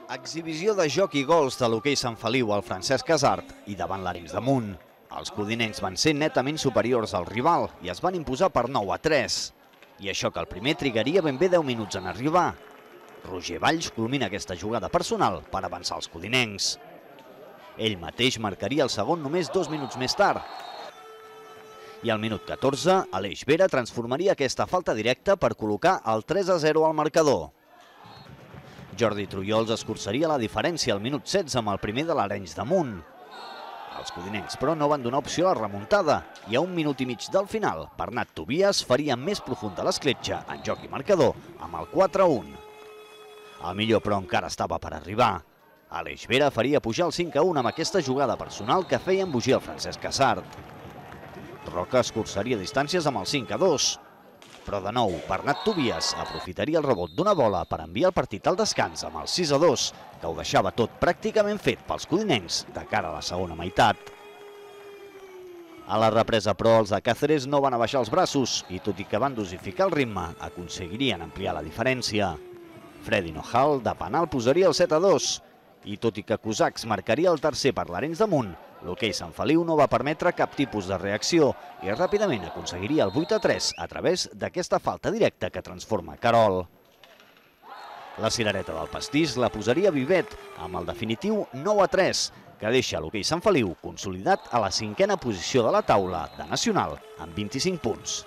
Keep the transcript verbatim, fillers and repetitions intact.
Exhibició de joc i gols de l'hoquei Sant Feliu al Francesc Casart i davant l'Arenys de Munt. Els codinencs van ser netament superiors al rival i es van imposar per nou a tres. I això que el primer trigaria ben bé deu minuts en arribar. Roger Valls culmina aquesta jugada personal per avançar els codinencs. Ell mateix marcaria el segon només dos minuts més tard. I al minut catorze, Aleix Vera transformaria aquesta falta directa per col·locar el tres a zero al marcador. Jordi Trullols escurçaria la diferència al minut setze amb el primer de l'Arenys de Munt. Els codinencs, però, no van donar opció a la remuntada i a un minut i mig del final, Bernat Tobias faria més profunda l'escletxa en joc i marcador amb el quatre a un. El millor, però, encara estava per arribar. Aleix Vera faria pujar el cinc a un amb aquesta jugada personal que feia embogir el Francesc Casart. Roca escurçaria distàncies amb el cinc a dos. Però de nou, Bernat Tobias aprofitaria el rebot d'una bola per enviar el partit al descans amb el sis a dos, que ho deixava tot pràcticament fet pels codinencs de cara a la segona meitat. A la represa, però, els de Càceres no van abaixar els braços i, tot i que van dosificar el ritme, aconseguirien ampliar la diferència. Freddy Nojal, de penal, posaria el set a dos. I tot i que Cosacs marcaria el tercer per l'Arenys de Munt, l'hoquei Sant Feliu no va permetre cap tipus de reacció i ràpidament aconseguiria el vuit a tres a través d'aquesta falta directa que transforma Carol. La cirereta del pastís la posaria Vivet amb el definitiu nou a tres, que deixa l'hoquei Sant Feliu consolidat a la cinquena posició de la taula de Nacional amb vint-i-cinc punts.